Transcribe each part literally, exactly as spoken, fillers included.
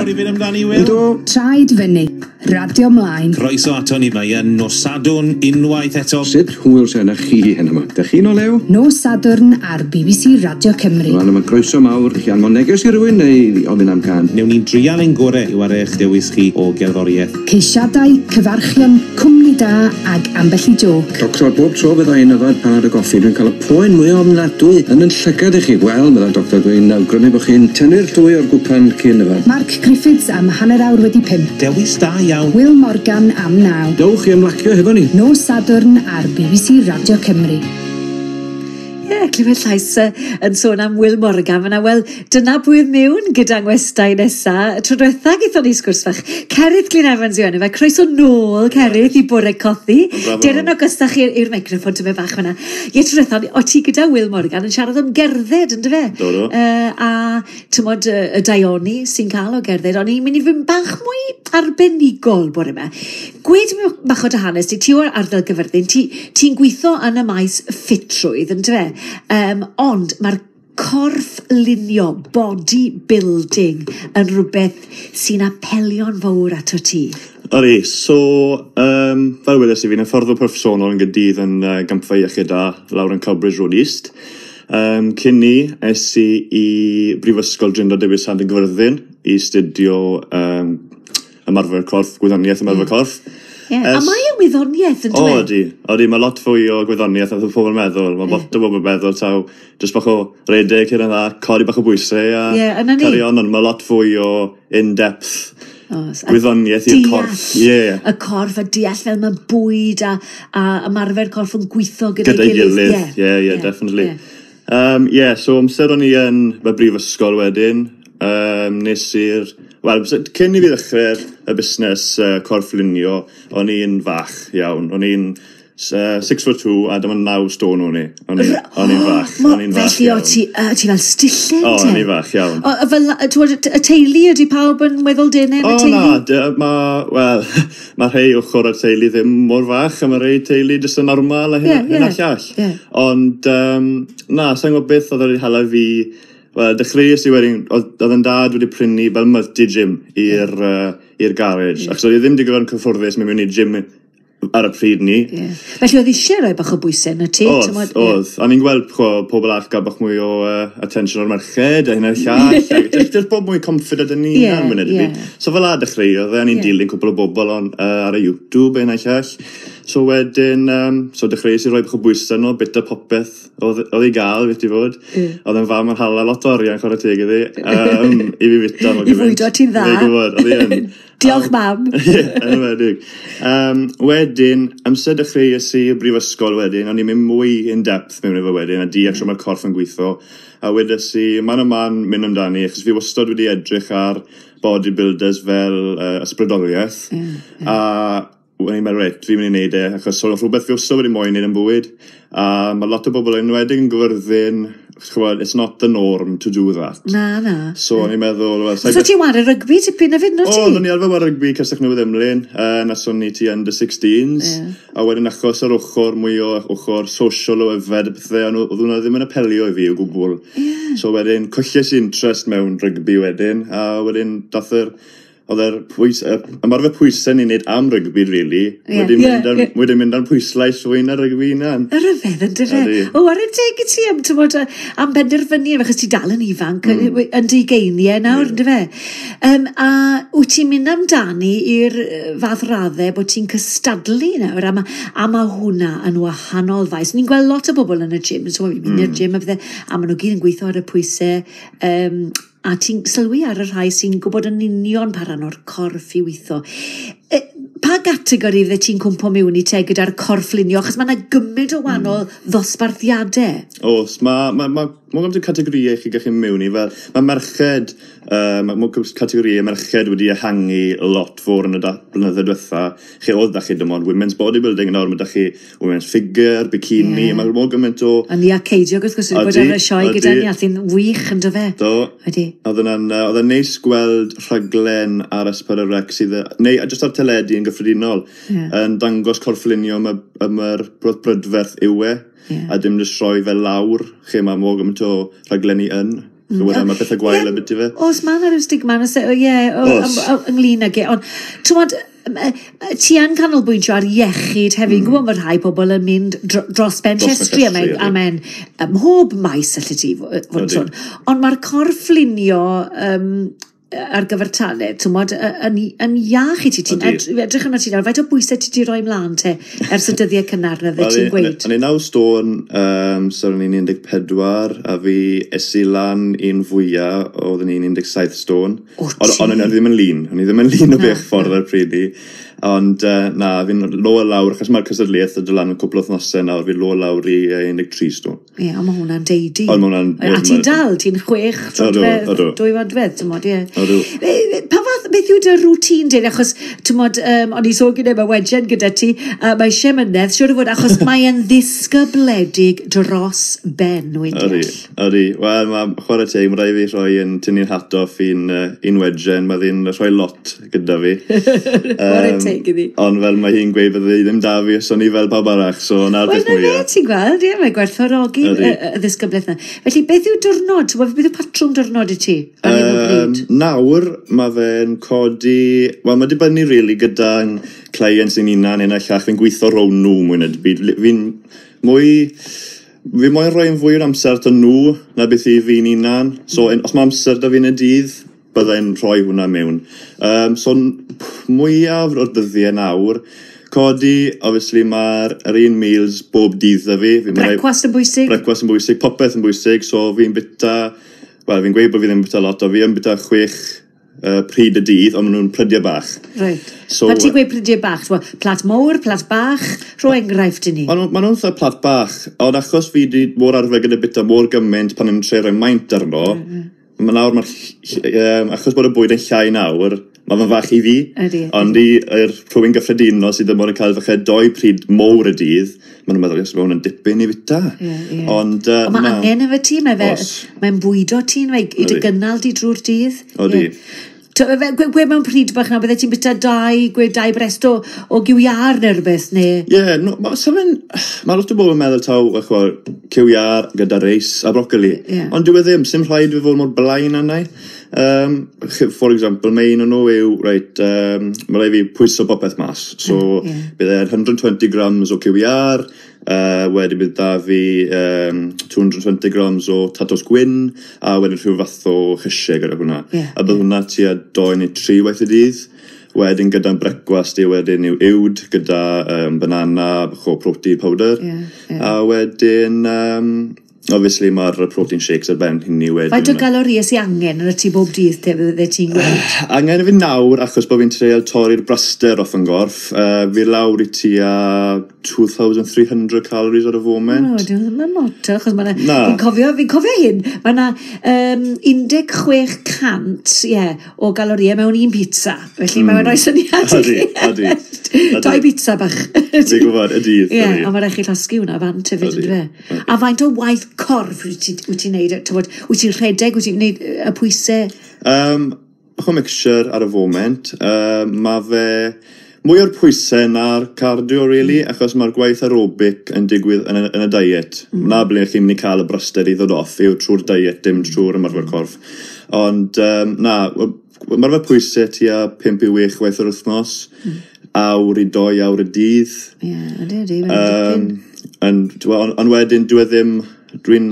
Barod i fynd amdani, Will? Ydw. Traed fyny, radio mlaen. Croeso ato ni, mae yn nos Sadwrn unwaith eto. Sut hwyl sy'n chi hyn yma? Dych chi'n o lew? Nos Sadwrn ar B B C Radio Cymru. Rwan yma croeso mawr. Chi anfon neges i rywun neu ofyn am can? Newn ni'n drial ein gorau i wario eich dewis chi o gerddoriaeth. Ceisiadau, cyfarchion, cwmni da ag ambell i jôc. Doctor, bob tro fydda i'n yfed panad o goffi, dwi'n cael y poen mwy ofnadwy yn yn llygad i chi. Wel, meddai doctor, dwi'n awgrymu bod chi'n tynnu'r llwy o'r gwpan cyn yfed. Mark Griffiths am hanner awr wedi pump. Dewis da iawn. Will Morgan am naw. Dewch i ymlacio hefo ni. Nos Sadwrn ar B B C Radio Cymru. Ie, yeah, clywed llais uh, yn sôn am Will Morgan fyna. Wel, dyna pwy oedd mewn gyda ngwestai nesa. Tro diwetha gaethon ni sgwrs fach. Cerith Glyn Evans yw enw fe. Croeso nôl, Cerith, i Bore Cothi. Bravo. Dere yn agosach i'r i'r microffon tymed bach fyna. Ie, tro diwetha, o ti gyda Will Morgan yn siarad am gerdded, yn dyfe? Do, do. Uh, a tymod y, y daioni sy'n cael o gerdded, ond i'n mynd i fynd bach mwy arbenigol bore yma. Gwed mi bach o dy hanes ti, ti o'r ardal Gyfyrddin, ti'n ti gweithio yn y maes ffitrwydd, yn dyfe? Um, ond mae'r corff lunio, body building, yn rhywbeth sy'n apelio'n fawr ato ti. Ydy, so, um, fel wedes i, fi'n hyfforddwr proffesiynol yn Gaerdydd yn uh, Gampfa Iechyd Da, lawr yn Cowbridge Road East. Um, cyn ni, es i i Brifysgol Drindod Dewi Sant yn Gyfyrddin i astudio um, ymarfer corff, gwyddoniaeth ymarfer corff. Yeah. A Es- mae yn wyddoniaeth, yn O, dyfe? ydy. Ydy, mae lot fwy o gwyddoniaeth na pobl yn meddwl. Mae lot o bobl yn meddwl taw jyst bach o redeg hyn a dda, codi bach o bwysau a Ie, yna ni. carry on, ond mae lot fwy o in-depth Oes, a gwyddoniaeth i'r deall corff. Ie. Y corff a deall fel mae bwyd a, a ymarfer corff yn gweithio gyda'i Gyda'i gilydd. gilydd. Ie, ie, definitely. Um, yeah, so amser o'n i yn y brifysgol wedyn, um, nes i'r... Wel, cyn i fi ddechrau'r y busnes uh, corff lunio, o'n i'n fach iawn. O'n i'n uh, six foot two a dyma naw stone o'n i. O'n i- o'n i'n fach. Mo- O'n i'n fach Felly o iawn. ti, uh, ti fel stillen O, te? o'n i'n fach iawn. O, fel, t'wod, y teulu, ydy pawb yn weddol denau yn y O teulu? na, dy- ma, wel, mae rhai ochr o'r teulu ddim mor fach, a mae rhai teulu jyst yn normal a hyn, Ie, hyn ie, a llall. ie. Ond, um, na, sa'n gwybod beth oedd wedi hala fi. Wel, dechreuais i wedyn, oedd oedd yn dad wedi prynu fel multi-gym i'r uh, i'r garage. Yeah. Achos oedd i ddim digon cyfforddus mynd mewn i gym ar y pryd ni. Ie. Felly oedd eisiau rhoi bach o bwysau yn y ti? Oedd, t'mod, ie. oedd. A ni'n gweld cho, pobl arall gael bach mwy o uh, attention o'r merched a hyn a'r llall. A Just, just bod mwy confident yn ni Ie, hunan munud ie. yeah. So fel a dechreuodd e, o'n i'n Ie. dilyn cwpl o bobl on, uh, ar y YouTube a hyn a'r llall. So wedyn, um, so dechreuais i roi bach o bwysau nhw, bit o popeth oedd oedd i gael, beth i fod. Ie. Oedd yn fam yn hala lot o arian, chwarae teg iddi, um, i fi fita. I fwydo ti'n dda. Fi'n gwybod, oedd hi yn. Diolch, mam. Ie, yn enwedig. Um, wedyn, amser dechreuais i y brifysgol wedyn, o'n i'n mynd mwy in-depth mewn efo wedyn, a deall mm. mae'r corff yn gweithio. A wedes i, man a man mynd amdani, achos fi wastad wedi edrych ar bodybuilders fel uh, ysbrydoliaeth. Ie, A o'n i'n meddwl, reit, fi'n mynd i wneud e, achos oedd rhywbeth fi wastad wedi moyn wneud yn bywyd. A mae lot o bobl yn enwedig yn Gyfyrddin, ch'mod, it's not the norm to do that. Na, na. So o'n i'n meddwl, wel, So ti'n ware rygbi tipyn hefyd, no O, ti? o'n i arfer ware rygbi Castell Newydd Emlyn, uh, nason ni ti under sixteens, Ie. a wedyn achos yr ochr mwy o ochr social o yfed a pethau, ond oedd hwnna ddim yn apelio i fi o gwbl. Ie. So wedyn, colles i interest mewn rygbi wedyn, a wedyn dath yr, oedd yr pwys, y ymarfer pwysau ni'n neud am rygbi, really, Ie, wedi ie, mynd ar, ie. wedi mynd ar pwyslais fwy na rygbi hunan. Y ryfedd yn dyfe. Ydi. O, ar y teg i ti am, t'mod, yy, am benderfynu, achos ti dal yn ifanc, mm. yn dy ugeiniau nawr, yn dyfe. Um, a wyt ti'n mynd amdani i'r yy, fath raddau bod ti'n cystadlu nawr, a ma, a ma hwnna yn wahanol faes. Ni'n gweld lot o bobl yn y gym, so fi'n mynd i'r gym a pethau, a maen nhw gyd yn gweithio ar y pwysau, um, a ti'n sylwi ar y rhai sy'n gwybod yn union pa ran o'r corff i weithio. E, pa gategori fydde ti'n cwmpo mewn i te gyda'r corff lunio? Achos mae yna gymaint o wahanol mm. ddosbarthiadau. Oes, mae ma, ma, ma gymaint o categorïau chi gallu mewn i, fel, mae merched, uh, mae ma categorïau merched wedi ehangu lot fawr yn y da- blynyddoedd diwetha. Lle oedd da chi dim ond women's bodybuilding, nawr mae da chi women's figure, bikini, Ie. yeah. mae mor gymaint o. A Nia Ceidiog, wrth gwrs, wedi bod Ydi, ar y sioe gyda ydi. ni, a sy'n wych yn dyfe. Do. Ydi. Oedd yna'n, yy, oedd e'n neis gweld rhaglen ar S pedwar C sydd, neu just ar teledu yn gyffredinol, Ie. yn dangos corfflunio am y, am yr brod brydferth yw e, Ie. a dim jyst rhoi fel lawr, lle mae mor gymaint o rhaglenni yn. Mm. So, mae pethau gwael yeah, ambiti fe. Oes, mae yna rhyw stigma, ie, ynglyn ag e. Ond, ti'n ti yn canolbwyntio ar iechyd hefyd. Mm. Gwybod mae rhai pobl yn mynd dros ben llestri a mae'n a mae'n mhob maes allu ti fod yn sôn. Ond mae'r corfflunio um, ar gyfartaledd, ti'n gwbod, yn, yn iach i ti. Ti'n edrych arno ti nawr, faint o bwysau ti di roi mlaen te ers y dyddiau cynnar na fydde ti'n gweud? O'n i naw stôn, um, so o'n i'n un deg pedwar, a fi es i lan un fwyaf, oedd o'n un deg saith stôn. Ond o'n i ddim yn lean, o'n i ddim yn lean o bell ffordd ar pryd i. Ond uh, na, fi'n lo lawr, achos mae'r cystadleuaeth yn dod lan yn cwpl o wythnosau nawr, fi'n lo lawr i un deg tri stôn. Ie, ond mae hwnna'n deidi. Ond mae hwnna'n... A ti'n dal, ti'n chwech troedfedd, dwy fodfedd, ti'n mod, ie. Odw. Pa fath, beth yw dy routine di? Achos, ti'n mod, um, o'n i sôn gyda, mae wedgen gyda ti, uh, mae eisiau mynedd, siwr o fod, achos mae'n ddisgybledig dros ben, wy'n deall. Ydy, ydy. Wel, mae chwarae teg, mae rhaid fi rhoi yn tynnu'n hat off i'n uh, wedgen, mae ddi'n rhoi lot gyda fi. um, teg iddi. Ond fel mae hi'n gweud bydde hi ddim da fi, so ni fel pawb arall, so na'r beth mwyaf. Wel, na fe, ti'n gweld, ie, mae gwerthfawrogi y, y ddisgyblaeth na. Felly, beth yw diwrnod? Beth yw patrwm diwrnod i ti ar hyn o bryd? Nawr, mae fe'n codi... Wel, mae dibynnu really gyda'n clients ein hunan, un a llall, fi'n gweithio rownd nhw mwy na byd. Fi'n mwy... Fi moyn rhoi yn fwy o'r amser 'da nhw na beth i fi'n hunan. So, os mae amser 'da fi yn y dydd, byddai'n rhoi hwnna mewn. Um, so, mwyaf o'r dyddiau nawr, codi, obviously, mae'r yr un meals bob dydd 'da fi. fi Brecwast yn bwysig? Brecwast yn bwysig, popeth yn bwysig, so fi'n bita, wel, fi'n gweud bod fi ddim yn bita lot, o fi yn bita chwech uh, pryd y dydd, ond maen nhw'n prydiau bach. Right. So, pan ti'n gweud prydiau bach, plat mawr, plat bach, rho enghraifft i ni. Maen nhw'n fatha plat bach, ond achos fi di mor arfer gyda bita mor gymaint pan yn trio rhoi maint arno, mm -hmm. Mae nawr, mae'r, um, achos bod y bwyd yn llai nawr, mae fe'n fach i fi. Ydy. Ond i i'r rhywun gyffredinol sydd ddim ond yn cael falle doi pryd mowr y dydd, maen nhw'n meddwl, yes, mae hwn yn dipyn i fita. Ie, ie. Ond, uh, Ond mae angen efo ti, mae fe, mae'n bwydo ti, mae i dy gynnal di drwy'r dydd. Odi. Gwe mewn pryd bach nawr, bydde ti'n bita dau, gwe dau brest o, o gyw iâr neu rhywbeth, neu? Ie, yeah, no, ma, so fe'n, mae lot o bobl yn meddwl taw, chwa, cyw iâr gyda reis a brocoli. Yeah. Ond dyw e ddim, sy'm rhaid fi fod mor blaen arna i. Um, for example, mae un o'n nhw yw, reit, um, mae rhaid fi pwyso popeth mas. So, yeah. bydd e'n one hundred twenty grams o cyw iâr, uh, wedyn bydd da fi um, two hundred twenty grams o tatws gwyn, a wedyn rhyw fath o llysiau gyda hwnna. Yeah, a bydd yeah. hwnna tua doi neu tri waith y dydd. Wedyn gyda'n brecwast i wedyn yw uwd gyda um, banana, bach o protein powder. Yeah, yeah. A wedyn, um, obviously mae'r protein shakes ar ben hynny wedyn. Faint o galoriau sy'n angen yn y ti bob dydd te fydde ti'n gweud? Angen i fi nawr, achos bod fi'n treial torri'r braster off yn gorff, uh, fi lawr i tua two thousand three hundred calories ar y foment. O, dwi'n ddim yn lot, achos mae Na. Fi'n cofio, fi'n cofio hyn, mae yna um, un deg chwech cant, ie, o galoriau mewn un pizza. Felly mm. mae'n rhoi syniad i Ydi, chi. ydi, ydi. Dau pizza bach. Fi'n gwybod, y dydd. Ie, ydi. a mae rhaid chi llosgi hwnna fant hefyd, Ydi, yndyfe? A faint o waith corff wyt ti- wyt ti'n neud? T'wod, wyt ti'n rhedeg, wyt ti'n neud y pwysau? Um, bach o mixture ar y foment. Um, mae fe mwy o'r pwysau na'r cardio, really, mm. achos mae'r gwaith aerobic yn digwydd yn y, yn y diet. Mm. Na ble chi'n mynd i cael y braster i ddod off, yw trwy'r diet, dim trwy'r ymarfer corff. Ond, um, na, ymarfer pwysau tua pump i wech waith yr wythnos, mm. awr i doi awr y dydd. Ie, ydy, ydy, mae'n Um, dipyn. ond on, on wedyn, dwi e ddim, dwi'n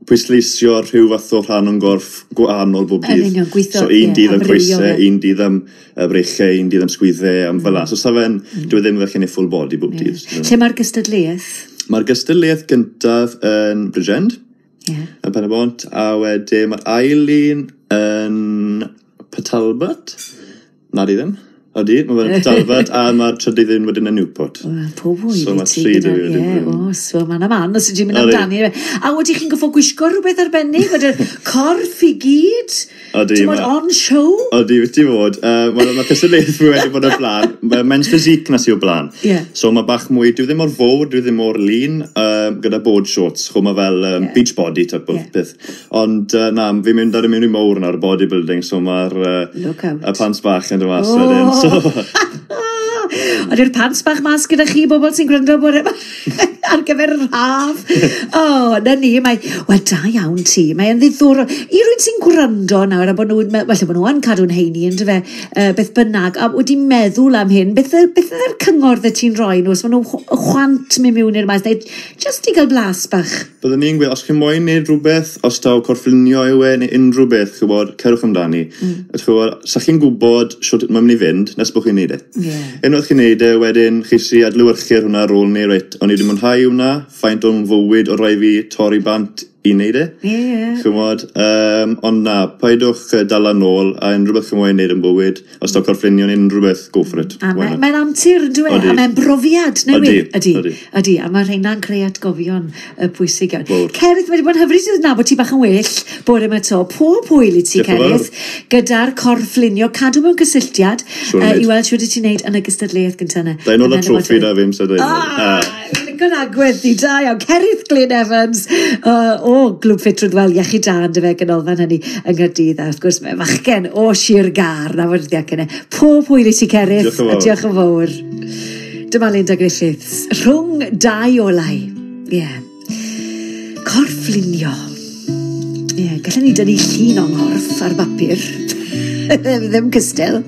pwysleisio rhyw fath o rhan o'n gorff gwahanol bob Yn dydd. union, gweithio, So un ie, dydd am amrywio coesau, fe. un dydd am uh, breichau, un dydd am sgwyddau, am fel 'na. So sa fe'n, dwi e ddim fel chi'n ei full body bob dydd. Lle mae'r gystadleuaeth? Mae'r gystadleuaeth gyntaf yn Bridgend, Ie. yn Pen y Bont, a wedyn mae'r ail un yn Port Talbot. Na di ddim. Odi, mae fe'n Port Talbot, a mae'r trydydd un wedyn yn Newport. Wel, pob hwyl So i ma' ti tri gyda- dwi wedi Ie, bod yn- oes, wel, mae'n aman, os ydych chi'n mynd Odi. amdani. A wedych chi'n goffo gwisgo rhywbeth arbennig, fod y corff i gyd? Odi, Ti'n bod ma- on show? Odi, wyt ti fod. Uh, Mae'r ma cystadleuaeth fi wedi bod o'r blaen. Mae men's physique na sy o blaen. Ie. So mae bach mwy, dwi ddim mor fawr, dwi ddim mor lean, uh, gyda board shorts, chw mae fel um, Ie. beach body type of Ie. peth. Ond uh, na, fi'n mynd ar y mewn i mowr nawr, bodybuilding, so mae'r uh, Look out. y pants bach yn dod mas Oh. wedyn. So, Ond yw'r pants bach mas gyda chi, bobl sy'n gwrando bore yma ar gyfer yr haf. O, oh, na ni, mae... Wel, da iawn ti, mae'n ddiddorol. I rywun sy'n gwrando nawr, a bod nhw'n... Falle bod nhw yn cadw'n heini, yndyfe, uh, beth bynnag, a wedi meddwl am hyn, beth, beth ydy'r cyngor dde ti'n rhoi nhw, os maen nhw chwant mynd mewn i'r maes, neu jyst i gael blas bach? Byddwn ni'n gweud, os chi'n moyn neud rhywbeth, os taw corfflunio yw e, neu unrhyw beth, chi'n gwybod, cerwch amdani. Mm. Chi'n gwybod, sa chi'n gwybod shwt mae'n mynd i fynd, nes bod chi'n neud e. Yeah. Unwaith chi'n neud e, wedyn chi sy adlewyrchu'r hwnna ar ôl ni, reit, o'n i wedi mwynhau hwnna, faint o'n fywyd o rai fi torri bant i wneud e. Ie, ie. Ch'mod, um, ond na, paidwch dala nôl a unrhyw beth chi'n moyn neud yn bywyd, os taw corfflunio neu unrhyw beth, go for it. A mae'n mae antur, yn dyw e? A mae'n brofiad newydd. Ydy, ydy. Ydy, a mae rheina'n creu atgofion pwysig iawn. Cerith, mae wedi bod yn hyfryd i nabod ti bach yn well bore yma to. Pob hwyl i ti, Cerith, gyda'r corfflunio, cadw mewn cysylltiad uh, i weld shwt wyt ti'n neud yn y gystadleuaeth gyntaf yna. Da i nôl y troffi da fi, amser da i. Ah, lico'n agwedd di, da iawn. Cerith Glyn Evans, uh, o Glwb Ffitrwydd, wel, iechyd da yn dyfe ganolfan hynny yng Nghaerdydd, a wrth gwrs mae fachgen o Sir Gâr, na fod ydi ac yna. Pob hwyl i ti, Cerith, Diolch yn fawr. A diolch yn fawr. Dyma Linda Griffiths, rhwng dau olau. Ie. Yeah. Corfflunio. Ie, yeah, gallen ni dynnu llun o'n nghorff ar bapur. Ddim cystal.